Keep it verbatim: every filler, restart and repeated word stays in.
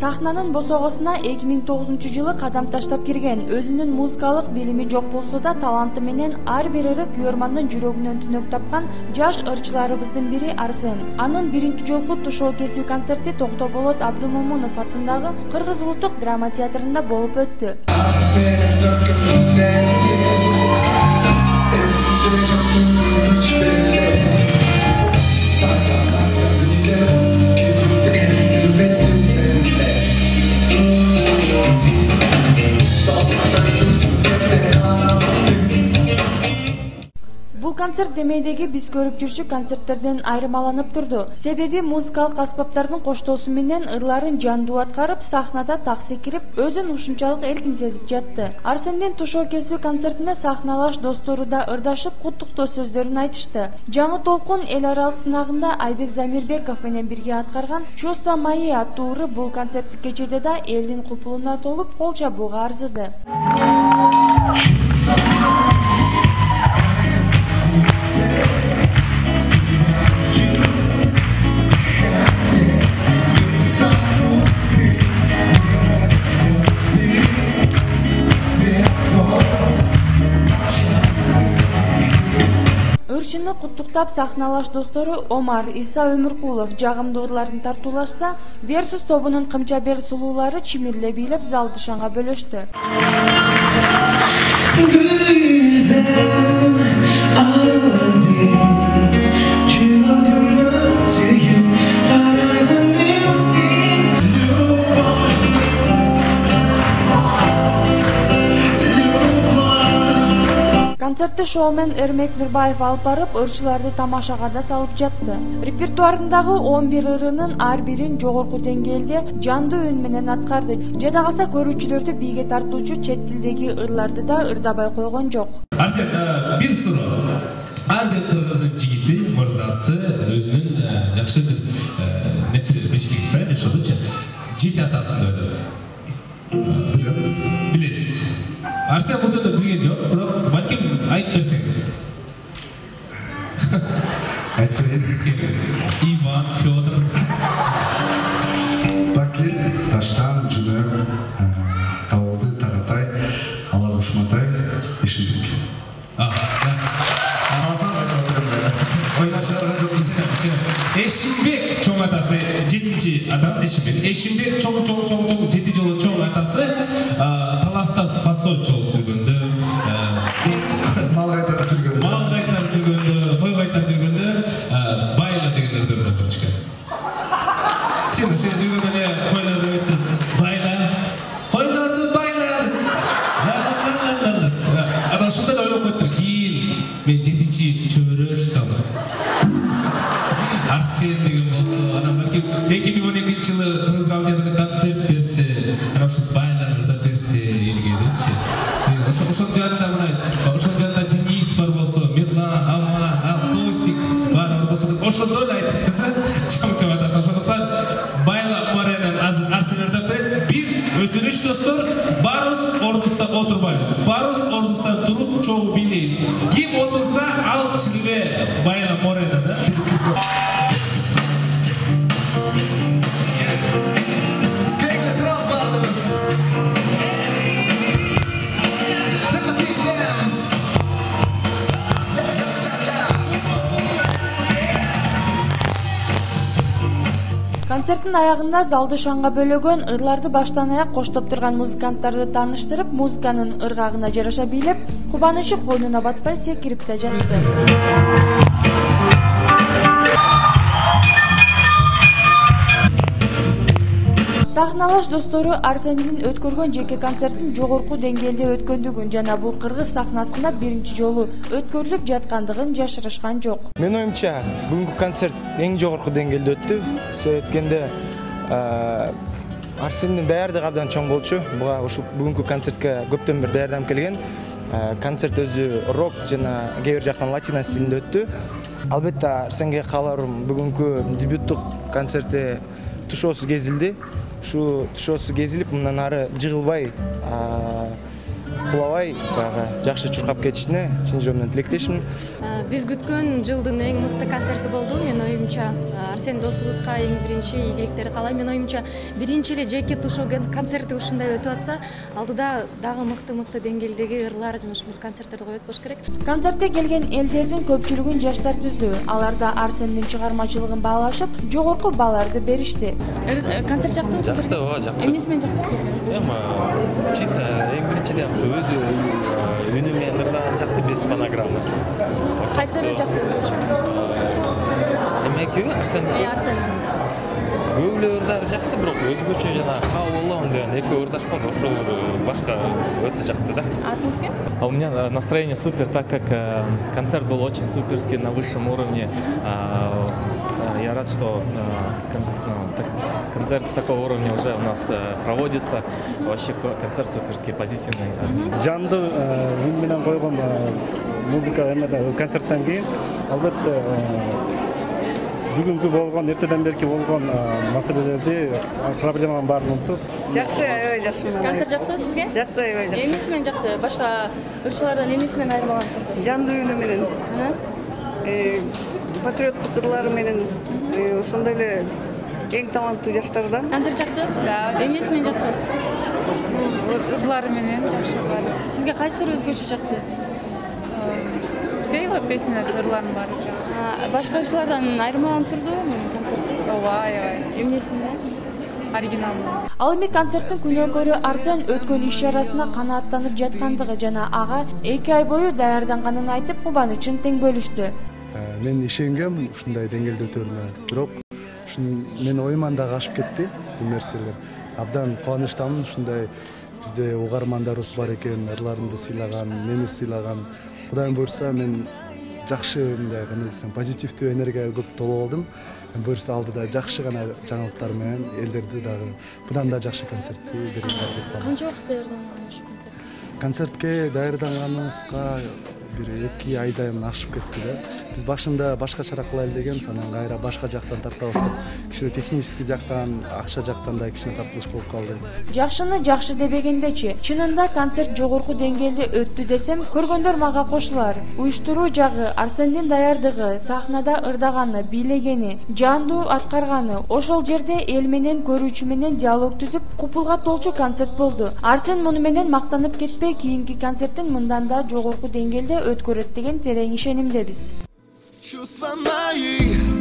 Сахнанын босогосуна эки миң тогузунчу жылы кадам таштап кирген. Өзүнүн музыкалык билими жок болсо да таланты менен ар бир ыры күйөрмандын жүрөгүнөн түнөк тапкан жаш ырчыларыбыздын бири Арсен. Анын биринчи жолку тушоо кесүү концерти Токтоболот Абдумомунов атындагы Кыргыз улуттук драма театрында болуп өттү. Бул концерт демейдеги биз көрүп жүрчү концерттерден айырмаланып турду. Себеби музыкалык аспаптардын коштоосу менен ырларын жандуу аткарып, сахнада так секирип, өзүн ушунчалык эркин сезип жатты. Арсендин тушоо кесүү концертине сахналаш достору да ырдашып, куттуктоо сөздөрүн айтышты. Жаңы толкун эл аралык сынагында Айбек Замирбеков менен бирге аткарган «Чувства мои» аттуу ыры бул концерттик кечеде да элдин купулуна толуп, кол чабууга арзыды. Ырчыны куттуктап сахналаш достору Омар, Иса Өмүркулов жагымдуу ырларын тартуулашса, Версус тобунун кымча-бел сулуулары чимирле бийлеп залды шаңга бөлөштү. Концертти шоумен Эрмек Нурбаев алып барып, ырчыларды тамашага да салып жатты. Репертуарындагы он бир ырынын ар бирин жогорку деңгээлде жандуу үн менен аткарды. Жада калса көрүүчүлөрдү бийге тартуучу чет тилдеги ырларды да ырдабай койгон жок. Арсен, бир суроо. Ар бир кыргыздын жигити, мырзасы өзүнүн жакшы бир нерселерди билиш керек да, жашоодочу. Жети атасын ойлойт. Билесиз. Арсен бул жерде билген жок, бирок балким айтып берсеңиз. Айтып берейин. Иван, Федор. Бакир, Таштан, Жүнөк, Табылды, Таратай, Алар Ушматай, Эшимбек. Калсан айтып отурам. Ойна чыгарган жокпуз. Эшимбек чоң атасы, жетинчи атасы Эшимбек. Эшимбек чоң чоң чоң чоң жети жолу чоң атасы таласта фасол чоң жүргөндө, мал кайтарып жүргөндө, мал кайтарып жүргөндө, кой кайтарып жүргөндө байла деген ырдарды жүрчүкөн. Чын ошо жүргөндө эле койлорду өтүп байла, койлорду байлар. Ана ошондой ойлоп коюптур. Кийин мен жетинчи чөбөрөшкам. Арсен деген болсо, анан балким эки миң он экинчи жылы Кыргыз драма театрында концерт берсе, анан ошо байлар ырдап берсе элге депчи. Ошо ошонун жанында мына, ошонун жанында Денис бар болсо, Мирлан, Аман, Алтосик бар болсо, ошондой эле айтыптыр да, чоң-чоң атасы. Ошондуктан байла Моренен азыр Арсен ырдап берет. Бир өтүнүч достор, баарыбыз ордубузда отурбайбыз. Баарыбыз ордубузда туруп чогуу бийлейбиз. Ким отурса, ал чын эле байла Моренен да. Концерттин аягында залды шаңга бөлөгөн, ырларды баштан аяк коштоп турган музыканттарды тааныштырып, музыканын ыргагына жараша бийлеп, кубанычы койнуна батпай секирип да жатты. Сахналаш достору Арсендин өткөргөн жеке концерттин жогорку деңгээлде өткөндүгүн жана бул кыргыз сахнасында биринчи жолу өткөрүлүп жаткандыгын жашырышкан жок. Мен оюмча, бүгүнкү концерт эң жогорку деңгээлде өттү. Себеп эткенде Арсендин даярдыгы абдан чоң болчу. Буга ушул бүгүнкү концертке көптөн бери даярданып келген. Концерт өзү рок жана кээ бир жактан латино стилинде өттү. Албетте Арсенге кааларым бүгүнкү дебюттук концерти тушоосу кезилди. Ушу тушоосу кезилип, мындан ары жыгылбай кулабай баягы жакшы чуркап кетишине чын жүрөгүмдөн тилектешмин. Биз күткөн жылдын эң мыкты концерти болду. Мен оюмча Арсен досубузга эң биринчи ийгиликтерди каалайм. Мен оюмча биринчи эле жеке тушоо концерти ушундай өтүп атса, алдыда дагы мыкты-мыкты деңгээлдеги ырлар жана ушундай концерттерди коюп атпаш керек. Концертке келген элдердин көпчүлүгүн жаштар түздү. Аларда Арсендин чыгармачылыгын баалашып, жогорку бааларды беришти. Концерт жактыңызбы? Жакты, ооба, жакты. Эмнеси менен жактыңыз? Эми чисто эң биринчиден ушу өзү үнү менен ырдан жакты, без фонограмма. Кайсыры жактыңыз? Эми экөөбү Арсен. Арсен. Көбүлө ырдары жакты, бирок өзгөчө жана Хау деген экөө ырдашпады. Ошол башка өтө жакты да. Атыңыз ким? А у меня настроение супер, так как концерт был очень суперский, на высшем уровне. Я рад, что концерт такого уровня уже у нас проводится. Вообще концерт суперский, позитивный. Жанды үн менен койгон музыка концерттен кийин албетте бүгүнкү болгон, эртеден берки болгон маселелерди, проблеманын баарын унутуп. Жакшы, аябай жакшы. Концерт жактыбы сизге? Жакты, аябай жакшы. Эмнеси менен жакты? Башка ырчылардан эмнеси менен айырмаланып турду? Жанды үнү менен. Э, патриоттук ырлары менен ошондой эле эң таланттуу жаштардан. Концерт жакты? Да. Эмнеси менен жакты? Ырлары менен жакшы бар. Сизге кайсыры өзгөчө жакты? Все его песни, ырларын баары жакты. Башка ырчылардан айырмаланып турдубу концерт? Ооба, аябай. Эмнеси менен? Оригиналдуу. Ал эми концерттин күнөөкөрү Арсен өткөн иш чарасына канааттанып жаткандыгы жана ага эки ай бою даярданганын айтып, кубанычын тең бөлүштү. Мен ишенгем ушундай деңгээлде өтөрүнө, бирок мен оюман дагы ашып кетти бул нерселер. Абдан кубанычтамын, ушундай бизде угармандарыбыз бар экен, ырларымды сыйлаган, мени сыйлаган. Кудайым буйрса, мен жакшы мындай кандай десем, позитивдүү энергияга көп толуп алдым. Буйрса алдыда жакшы гана жаңылыктар менен элдерди дагы мындан да жакшы концертти берүүгө аракет кылам. Канча убакыт даярданган ушу концерт? Концертке даярданганыбызга бир эки айдай ашып кетти да. Биз башында башкачараак кылайлы дегенбиз, анан кайра башка жактан тартабыз деп, кичине технический жактан, акча жактан да кичине тартылыш болуп калды. Жакшыны жакшы дебегендечи, чынында концерт жогорку деңгээлде өттү десем, көргөндөр мага кошулар. Уюштуруу жагы, Арсендин даярдыгы, сахнада ырдаганы, бийлегени, жандуу аткарганы, ошол жерде эл менен, көрүүчү менен диалог түзүп, купулга толчу концерт болду. Арсен муну менен мактанып кетпей, кийинки концерттин мындан да жогорку деңгээлде өткөрөт деген терең ишенимдебиз. Чувства мои